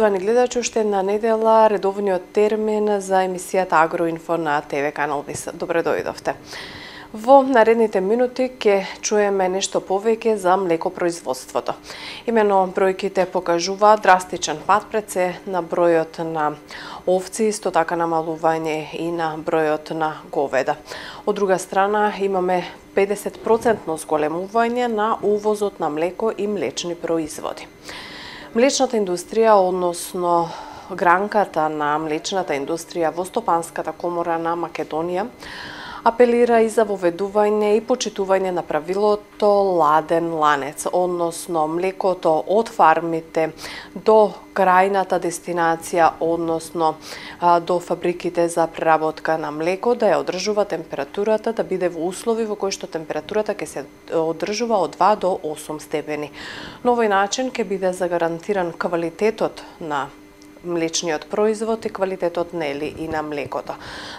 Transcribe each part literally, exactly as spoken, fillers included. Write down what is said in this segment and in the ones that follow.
Почитувани гледачи, уште една недела редовниот термин за емисијата Агроинфо на ТВ канал ВИС. Добре дојдовте. Во наредните минути ќе чуеме нешто повеќе за млекопроизводството. Имено бројките покажуваат драстичен пат пред се на бројот на овци, исто така намалување и на бројот на говеда. Од друга страна имаме педесет проценти зголемување на увозот на млеко и млечни производи. Млечната индустрија, односно гранката на млечната индустрија во Стопанската комора на Македонија, апелира и за воведување и почитување на правилото ладен ланец, односно млекото од фармите до крајната дестинација, односно до фабриките за преработка на млеко, да ја одржува температурата, да биде во услови во кои што температурата ќе се одржува од два до осум степени. На овој начин ќе биде загарантиран квалитетот на млечниот производ и квалитетот нели и на млекото.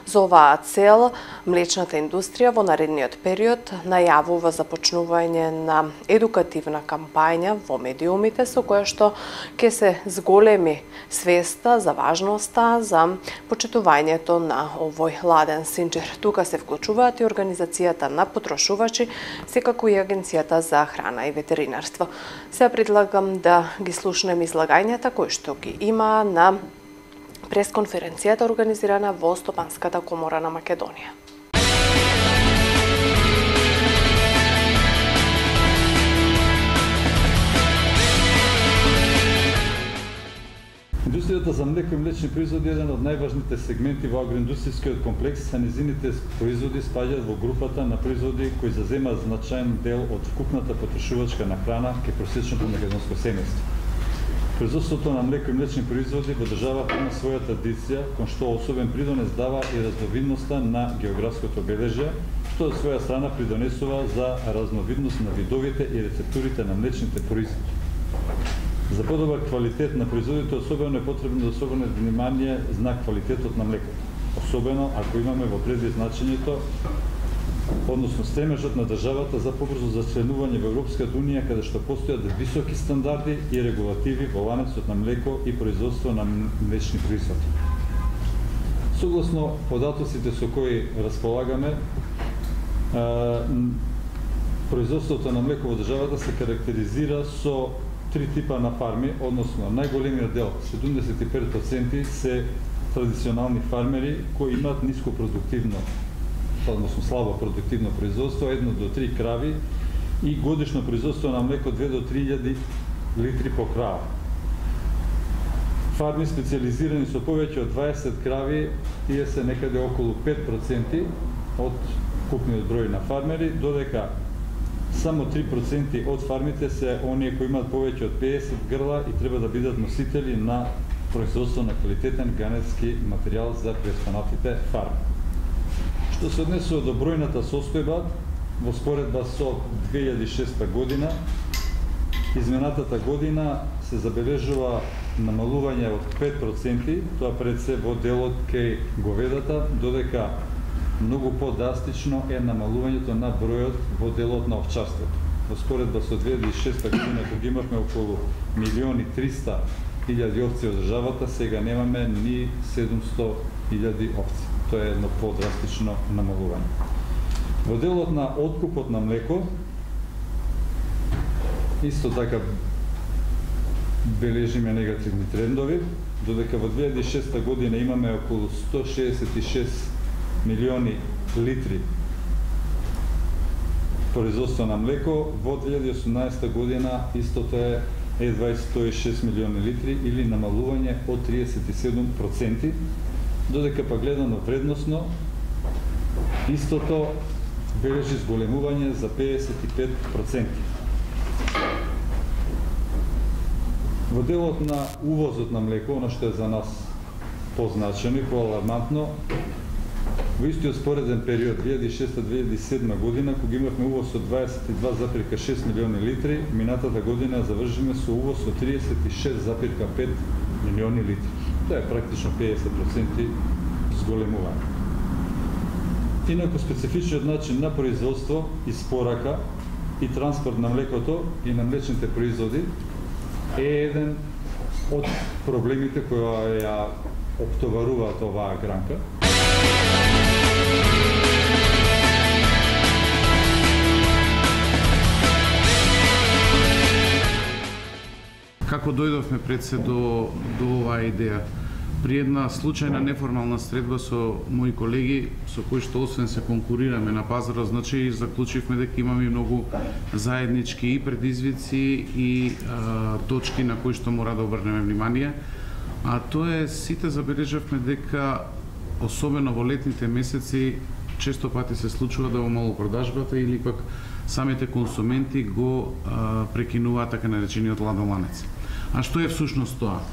За оваа цел, млечната индустрија во наредниот период најавува започнување на едукативна кампања во медиумите со која што ќе се зголеми свеста за важноста за почитувањето на овој ладен синџер. Тука се вклучуваат и Организацијата на потрошувачи, секако и Агенцијата за храна и ветеринарство. Сега предлагам да ги слушнеме излагањата кои што ги има на пресконференцијата организирана во Стопанската комора на Македонија. Индустријата за млеко и млечни производи е еден од најважните сегменти во агроиндустријскиот комплекс, а низините производи спаѓаат во групата на производи кои заземаат значаен дел од вкупната потрошувачка на храна кај просечното македонско семејство. Производството на млеко и млечни производи во државата има своја традиција, кон што особен придонес дава и разновидноста на географското обележје, што од своја страна придонесува за разновидност на видовите и рецептурите на млечните производи. За подобар квалитет на производите особено е потребно да се обрне внимание на квалитетот на млекото, особено ако имаме во предвид значењето, односно стремежот на државата за побрзо зачленување во Европската унија, каде што постојат високи стандарди и регулативи во ланецот на млеко и производство на млечни производи. Согласно податоците со кои располагаме, производството на млеко во државата се карактеризира со три типа на фарми, односно најголемиот дел, седумдесет и пет проценти, се традиционални фармери кои имаат ниско продуктивно, односно слабо продуктивно производство, едно до три крави и годишно производство на млеко две до три илјади литри по крава. Фарми специализирани со повеќе од дваесет крави, тие се некаде околу пет проценти од купниот број на фармери, додека само три проценти од фармите се оние кои имаат повеќе од педесет грла и треба да бидат носители на производство на квалитетен ганетски материјал за преостанатите фарми. Што се однесува до бројната состојба, во споредба со две илјади и шеста година, изминатата година се забележува намалување од пет проценти, тоа пред се во делот кај говедата, додека многу по-драстично е намалувањето на бројот во делот на овчарството. Во споредба со две илјади и шеста година, кога имавме околу милион и триста илјади овци од државата, сега немаме ни седумсто илјади овци. Тоа е едно по-драстично намалување. Во делот на откупот на млеко, исто така бележиме негативни трендови, додека во две илјади и шеста година имаме околу сто шеесет и шест милиони литри производство на млеко, во две илјади и осумнаесета година истото е едва сто и шест милиони литри или намалување од триесет и седум проценти, додека па гледано вредносно истото бележи зголемување за педесет и пет проценти. Во делот на увозот на млеко, оно што е за нас позначено и поалармантно, во истиот спореден период две илјади и шеста до две илјади и седма година, кога имавме увоз од дваесет и два запирка шест милиони литри, минатата година завршиме со увоз од триесет и шест запирка пет милиони литри. Тоа е практично педесет проценти зголемување. Инаку специфичниот начин на производство, испорака и транспорт на млекото и на млечните производи е еден од проблемите кои ја оптоваруваат оваа гранка. Како дојдовме пред се до, до оваа идеја? При една случајна неформална средба со мои колеги, со кои што освен се конкурираме на пазарот, значи заклучивме дека имаме многу заеднички и предизвици и а, точки на кои што мора да обрнеме внимание. А тоа е, сите забележавме дека особено во летните месеци често пати се случува да во малопродажбата или пак самите консументи го а, прекинуваат така наречениот ладен ланец. А што е всушност тоа?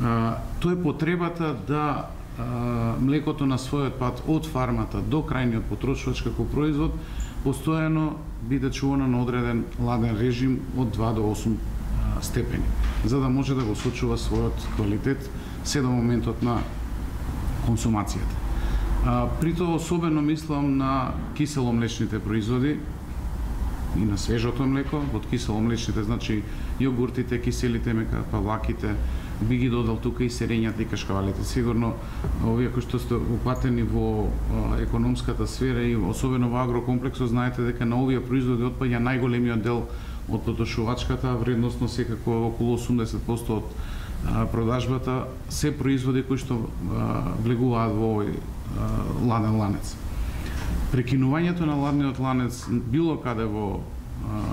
А, тоа е потребата да а, млекото на својот пат од фармата до крајниот потрошувач како производ постојано биде чувано на одреден ладен режим од два до осум а, степени, за да може да го сочува својот квалитет се до моментот на консумацијата. А, при тоа особено мислам на киселомлечните производи и на свежото млеко. Од киселомлечните значи јогуртите, киселите мека, павлаките, би ги додал тука и сирењата и кашкавалите. Сигурно овие кои што сте упатени во а, економската сфера и особено во агрокомплексот, знаете дека на овие производи отпаѓа најголемиот дел од потрошувачката, вредносно секако околу осумдесет проценти од а, продажбата се производи кои што а, влегуваат во овој а, ладен ланец. Прекинувањето на ладниот ланец било каде во а,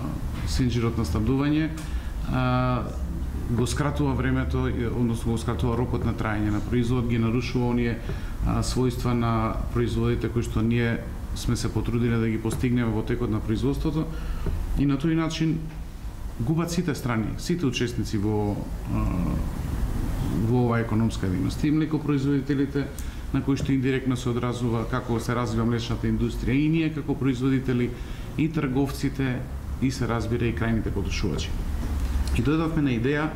синџирот на снабдување а, го скратува времето, односно го скратува рокот на траење на производ, ги нарушува оние а, својства на производите кои што ние сме се потрудиле да ги постигнеме во текот на производството, и на тој начин губат сите страни, сите учесници во а, во оваа економска дејност. И млекопроизводителите, на кои што индиректно се одразува како се развива млечната индустрија, и ние како производители, и трговците, и се разбира и крајните потрошувачи. И дојдовме на идеја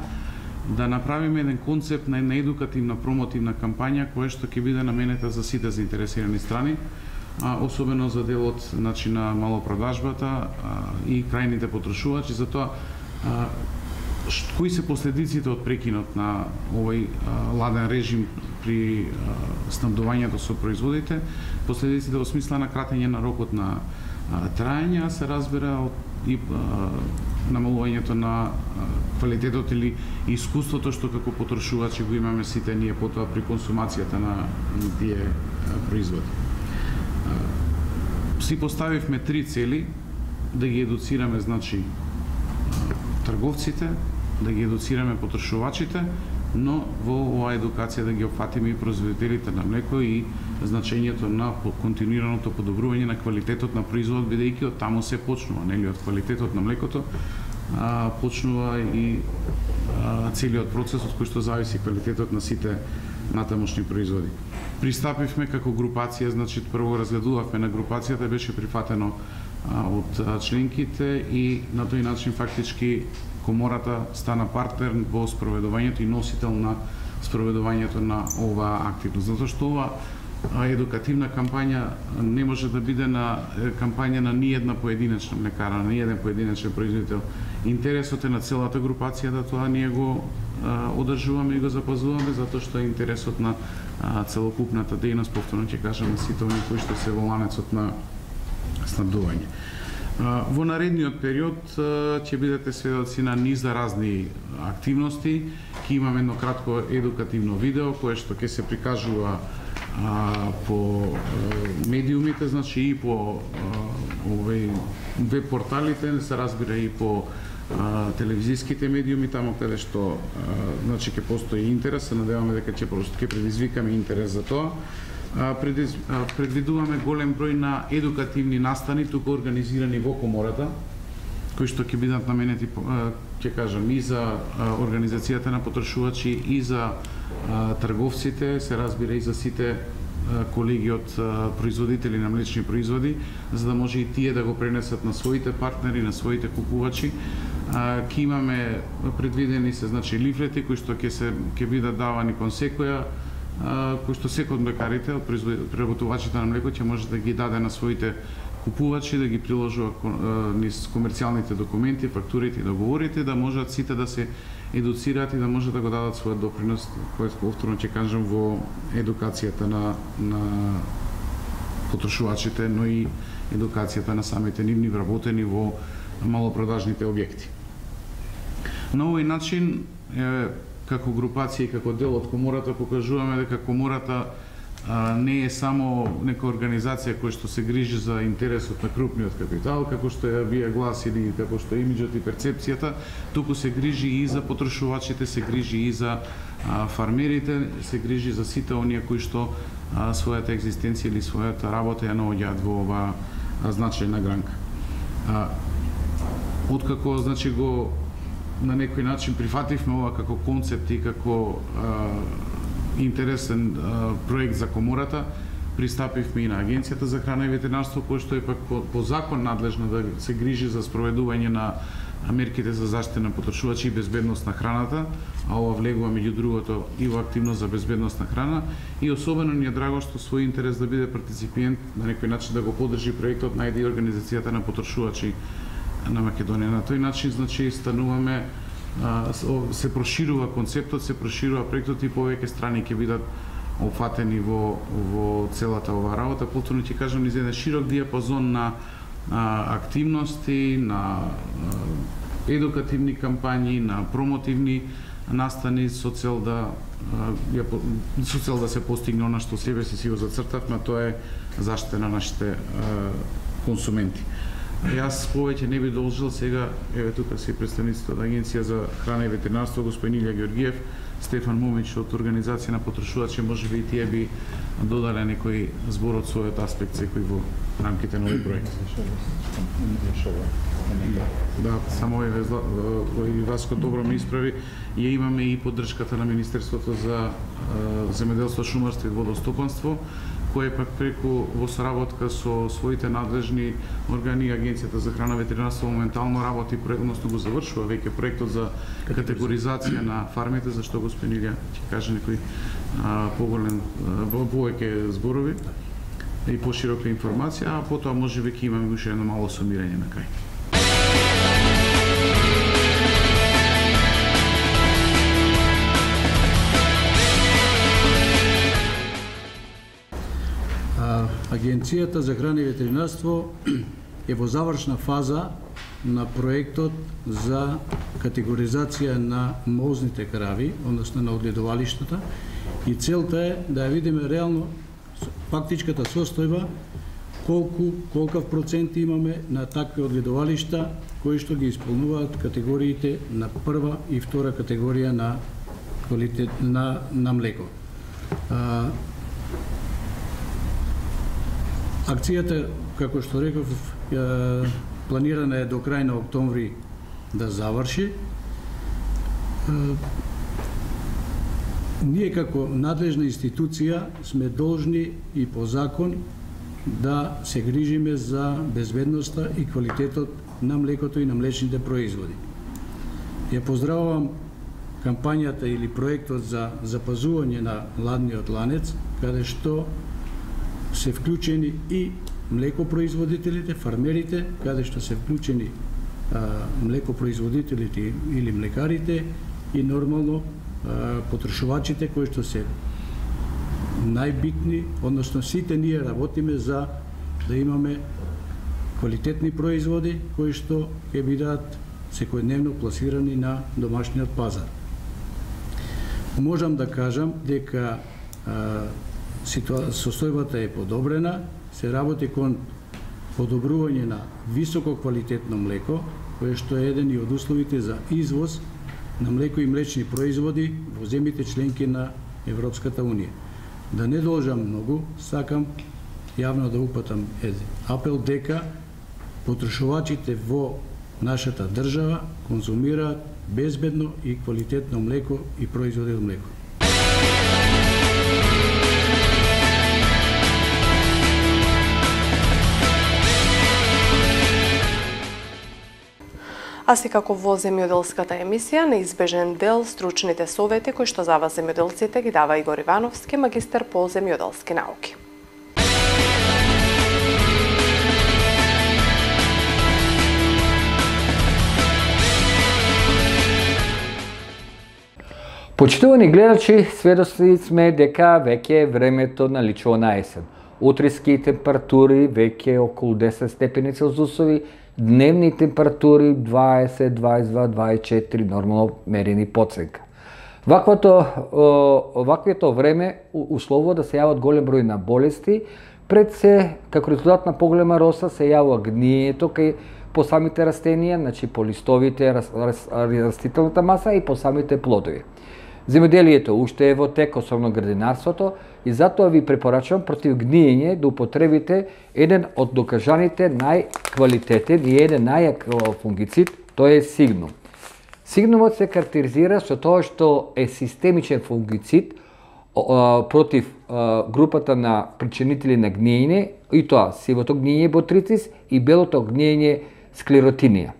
да направиме еден концепт на една едукативна промотивна кампања која што ќе биде наменета за сите заинтересирани страни, а, особено за делот, значи, на малопродажбата а, и крајните потрошувачи, за тоа а, кои се последиците од прекинот на овој а, ладен режим при а, снабдувањето со производите, последиците во смисла на кратење на рокот на а, траење, се разбира од и а, намалувањето на а, квалитетот или искуството што како потрошувачи го имаме сите ние потоа при консумацијата на тие а, производи. А, си поставивме три цели: да ги едуцираме, значи, а, трговците, да ги едуцираме потрошувачите, но во оваа едукација да ги опфатиме и производителите на млеко и значењето на континуираното подобрување на квалитетот на производ, бидејќи од таму се почнува, нели, од квалитетот на млекото а, почнува и а, целиот процес од кој што зависи квалитетот на сите натамошни производи. Пристапивме како групација, значи прво разгледувавме на групацијата, беше прифатено а, од а, членките, и на тој начин фактички Комората стана партнер во спроведувањето и носител на спроведувањето на оваа активност. Затоа што ова едукативна кампања не може да биде на кампања на ниедна поединечна млекара, на ниеден поединечен производител. Интересот е на целата групација да тоа ние го а, одржуваме и го запазуваме, затоа што е интересот на а, целокупната дејност, повторно ќе кажам, на сите оние кои што се во ланецот на снабдување. Во наредниот период ќе бидете сведоци на низ разни активности. Ќе имаме едно кратко едукативно видео кое што ќе се прикажува а, по а, медиумите, значи и по овој веб порталите, се разбира и по а, телевизиските медиуми, таму каде што а, значи ќе постои интерес. Се надеваме дека ќе ќе предизвикаме интерес за тоа. Предвидуваме голем број на едукативни настани тука организирани во Комората, кои што ќе бидат наменети, ќе кажам, и за организацијата на потрошувачи, и за трговците, се разбира и за сите колеги од производители на млечни производи, за да може и тие да го пренесат на своите партнери, на своите купувачи. Ќе имаме предвидени се, значи, лифлети кои што ќе се ќе бидат давани кон секоја, кој што секој од млекарите, од преработувачите на млеко ќе може да ги даде на своите купувачи да ги приложува низ комерцијалните документи, фактурите и договорите, да можат сите да се едуцираат и да можат да го дадат својот допринос, кој повторно ќе кажам, во едукацијата на, на потрошувачите, но и едукацијата на самите нивни вработени во малопродажните објекти. На овој начин, е, како групација и како дел од комората, покажуваме дека комората а, не е само нека организација која што се грижи за интересот на крупниот капитал, како што ја бија глас или како што е имиджот и перцепцијата, туку се грижи и за потрошувачите, се грижи и за а, фармерите, се грижи за сите оние кои што а, својата екзистенција или својата работа ја наоѓаат во оваа значајна гранка. А, откако, значи, го на некој начин прифативме ова како концепт и како а, интересен а, проект за комората, пристапивме и на Агенцијата за храна и ветеринарство, кој што е пак по, по закон надлежна да се грижи за спроведување на мерките за заштита на потрошувачи и безбедност на храната, а ова влегува меѓу другото и во активност за безбедност на храна, и особено ни е драго што свој интерес да биде партиципиент, на некој начин да го поддржи проектот најде и организацијата на потрошувачи на Македонија. На тој начин, значи, стануваме, се проширува концептот, се проширува проектот и повеќе страни ќе бидат опфатени во, во целата ова работа. Повторно ќе кажам, низ еден широк диапазон на а, активности, на а, едукативни кампањи, на промотивни настани со цел да а, со цел да се постигне она што себе си си го зацртавме, тоа е заштита на нашите а, консументи. Јас повеќе не би должил, сега, еве тука се представниците од Агенција за храна и ветеринарство, господин Илја Георгиев, Стефан Момич од Организација на потрошувачи, можеби и тие би додале некој збор од својот аспект секој во рамките на овој проект. Да, само еве и Васко добро ме исправи, ја имаме и поддршката на Министерството за земјоделство, шумарство и водостопанство, кој пак преку во соработка со своите надлежни органи, Агенцијата за храна и ветеринарство моментално работи, односно го завршува веќе проектот за категоризација на фармите, за што господин Илја ќе каже некој поголем, повеќе зборови и поширока информација, а потоа можеби ќе имаме уште едно мало сумирање на крај. Агенцијата за храна и ветеринарство е во завршна фаза на проектот за категоризација на молзните крави, односно на огледувалиштата, и целта е да ја видиме реално фактичката состојба, колку колкав процент имаме на такви огледувалишта кои што ги исполнуваат категориите на прва и втора категорија на квалитет на на млеко. А, Акцијата, како што реков, планирана е до крај на октомври да заврши. Ние како надлежна институција сме должни и по закон да се грижиме за безбедноста и квалитетот на млекото и на млечните производи. Ја поздравувам кампањата или проектот за запазување на ладниот ланец, каде што се вклучени и млекопроизводителите, фармерите, каде што се вклучени а, млекопроизводителите или млекарите и нормално а, потрошувачите кои што се најбитни, односно сите ние работиме за да имаме квалитетни производи кои што ќе бидат секојдневно пласирани на домашниот пазар. Можам да кажам дека а, состојбата е подобрена, се работи кон подобрување на високо квалитетно млеко, кое што е еден и од условите за извоз на млеко и млечни производи во земјите членки на Европската унија. Да не должам многу, сакам јавно да упатам еден апел дека потрошувачите во нашата држава конзумираат безбедно и квалитетно млеко и производи од млеко. А си како во земјоделската емисија, неизбежен дел стручните совети кои што за вас земјоделците ги дава Игор Ивановски, магистар по земјоделски науки. Почитувани гледачи, сведоци сме дека веќе е времето наличува на есен. Утриски температури веќе околу десет степени Целзусови, дневни температури дваесет, дваесет и два, дваесет и четири, нормално мерени подценка. Ваквото, ваквото време услово да се јават голем број на болести, пред се, како резултат на поголема роса, се јавува гниењето кај по самите растенија, значи по листовите, растителната маса и по самите плодови. Земеделието уште е во тек, особено градинарството, и затоа ви препорачувам против гниење да употребите еден од докажаните најквалитетен и еден најак фунгицид, тој е Сигнум. Сигнумот се карактеризира со тоа што е системичен фунгицид против групата на причинители на гниење, и тоа сивото гниење ботрицис и белото гниење склеротинија.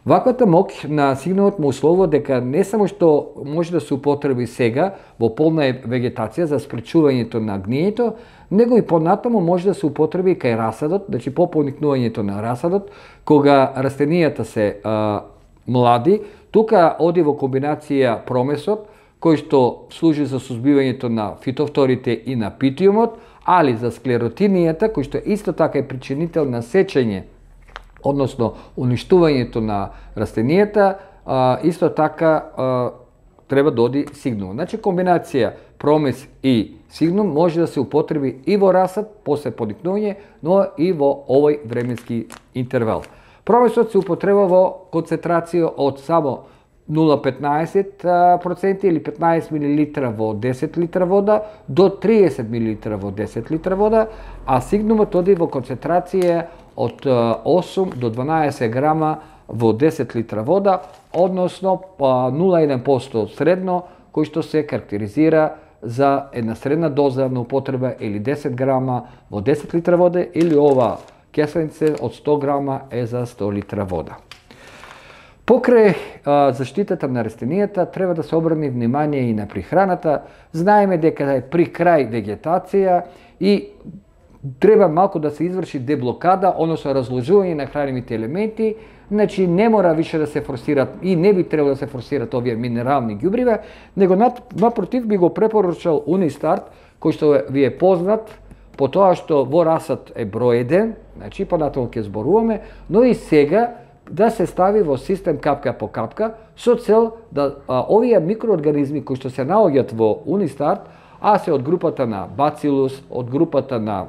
Ваквата моќ на Сигнумот му условува дека не само што може да се употреби сега во полна вегетација за спречувањето на гниењето, него и понатаму може да се употреби кај расадот, значи по поникнувањето на расадот, кога растенијата се а, млади. Тука оди во комбинација промесот, кој што служи за сузбивањето на фитофторите и на питиумот, али за склеротинијата, кој што исто така е причинител на сечење, односно уништувањето на растенијата, исто така треба да оди Сигнум. Значи комбинација промес и Сигнум може да се употреби и во расад, после поникнување, но и во овој временски интервал. Промесот се употреба во концентрација од само нула целу петнаесет проценти или петнаесет милилитра во десет литра вода до триесет милилитра во десет литра вода, а Сигнумот оди во концентрација од осум до дванаесет грама во десет литра вода, односно нула целу еден проценти средно, кој што се карактеризира за една средна доза на употреба или десет грама во десет литра вода, или ова кесенице од сто грама е за сто литра вода. Покрај а, заштитата на растенијата треба да се обрани внимание и на прихраната. Знаеме дека е при крај вегетација и треба малку да се изврши деблокада, односно разложување на хранивите елементи, значи не мора више да се форсират и не би требало да се форсират овие минерални ѓубрива, него напротив би го препорачал Унистарт, кој што ви е познат по тоа што во расад е број еден, значи понатаму ќе зборуваме, но и сега да се стави во систем капка по капка со цел да а, овие микроорганизми кои што се наоѓаат во Унистарт, а се од групата на бацилус, од групата на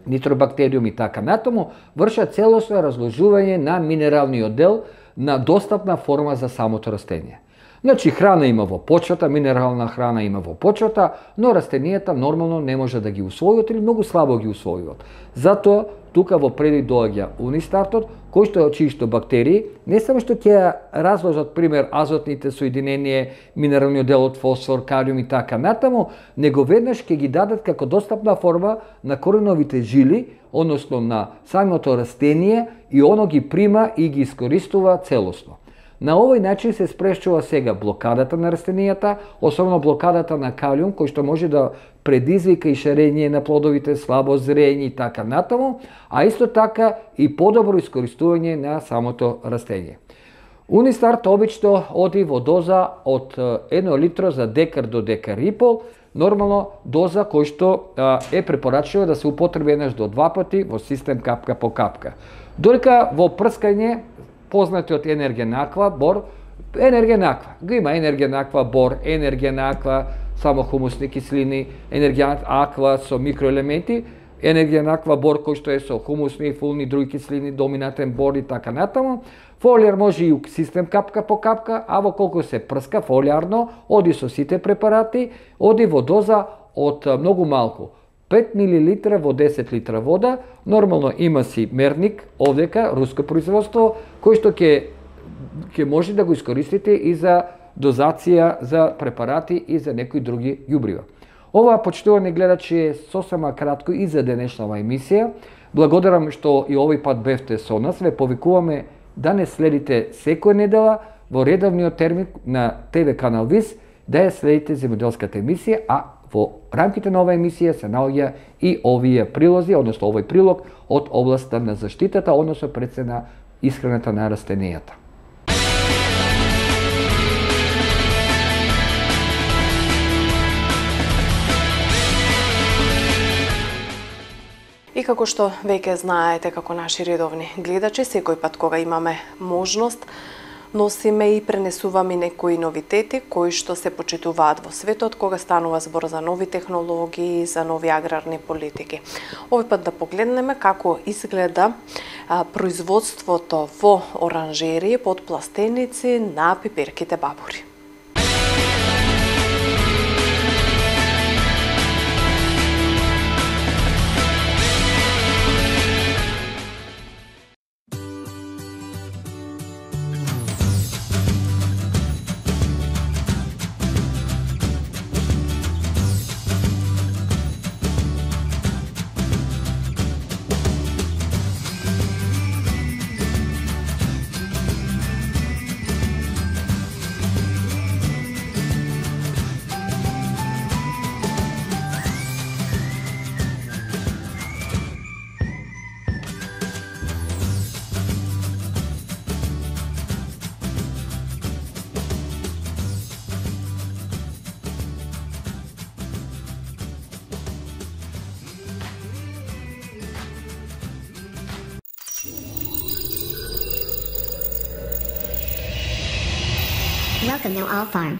нитробактериум и така натаму, вршат целосно разложување на минералниот дел на достапна форма за самото растение. Значи храна има во почвата, минерална храна има во почвата, но растенијата нормално не може да ги усвојуват или многу слабо ги усвојуват. Затоа тука во предик доаѓа Унистартот, кој што е очишто бактерии, не само што ќе разложат пример азотните соединенија, минералниот дел од фосфор, калиум и така натаму, него веднаш ќе ги дадат како достапна форма на кореновите жили, односно на самото растение, и оно ги прима и ги искористува целосно. На овој начин се спречува сега блокадата на растенијата, особено блокадата на калиум, кој што може да предизвика и шарење на плодовите, слабо зрење и така натаму, а исто така и подобро искористување на самото растение. Унистарт обично оди во доза од едно литро за декар до декар и пол, нормално доза кој што е препорачливо да се употреби еднаш до два пати во систем капка по капка. Додека во прскање познатиот енерген аква, бор, енерген аква. Го има енерген аква, бор, енерген аква, само хумусни киселини, енерген аква со микроелементи, енерген аква бор кој што е со хумусни, фулни, други киселини, доминантен бор и така натаму. Фолиар може и у систем капка по капка, а во колку се прска фолиарно, оди со сите препарати, оди во доза од многу малку. пет милилитра во десет литра вода, нормално има си мерник, овдека, руско производство, кој што ќе ќе може да го искористите и за дозација за препарати и за некои други ѓубрива. Ова, почитувани гледачи, е сосема кратко и за денешнава емисија. Благодарам што и овој пат бевте со нас. Ве повикуваме да не следите секоја недела во редовниот термин на Т В канал ВИС, да ја следите земјоделската емисија, а во рамките на оваа емисија се наоѓа и овие прилози, односно овој прилог од областа на заштитата, односно пред се на исхраната на растенијата. И како што веќе знаете, како наши редовни гледачи, секој пат кога имаме можност, носиме и пренесуваме некои новитети кои што се почитуваат во светот кога станува збор за нови технологии, за нови аграрни политики. Овој пат да погледнеме како изгледа а, производството во оранжерии под пластеници на пиперките бабури. Welcome to All Farm.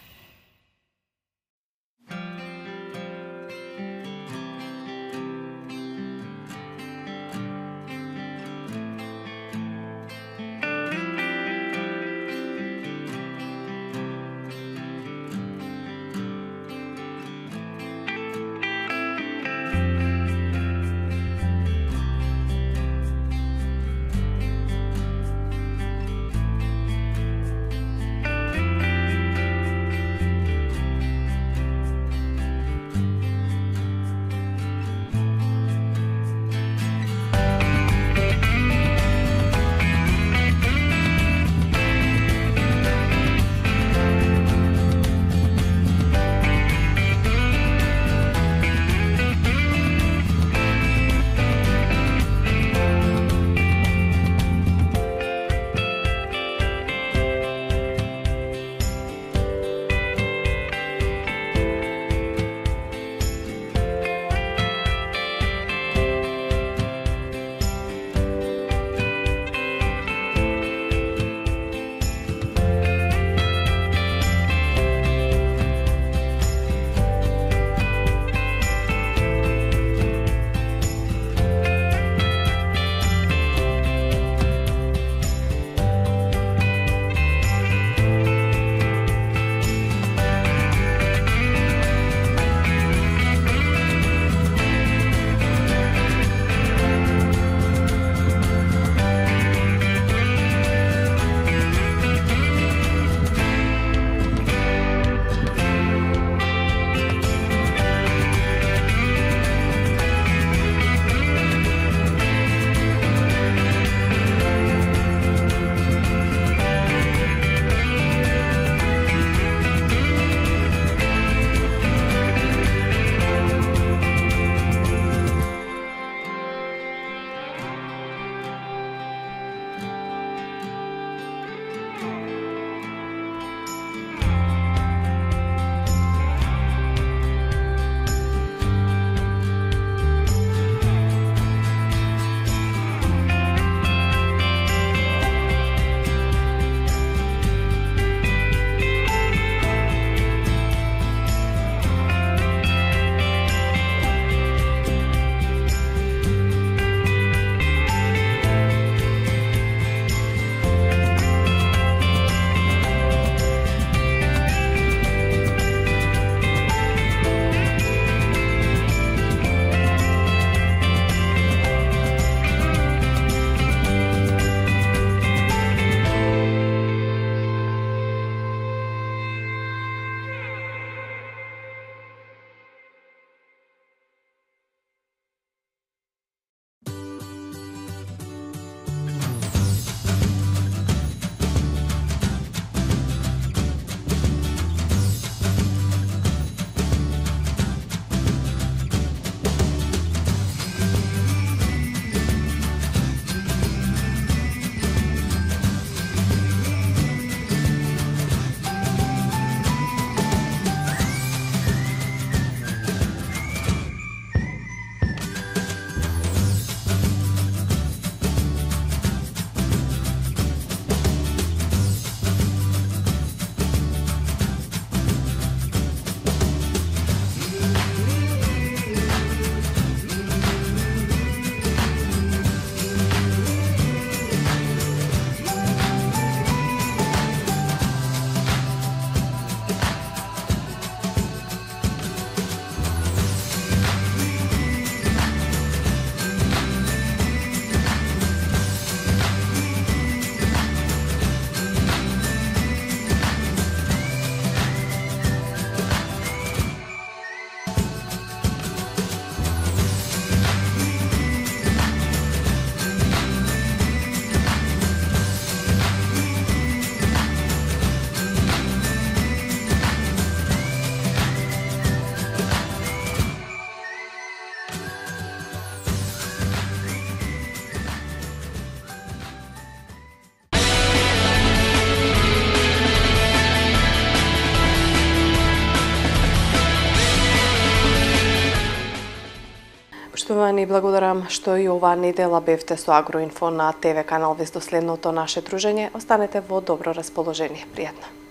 внимание и благодарам што и оваа недела бевте со Агроинфо на ТВ канал Вест. До следното наше дружење. Останете во добро расположение. Пријатно.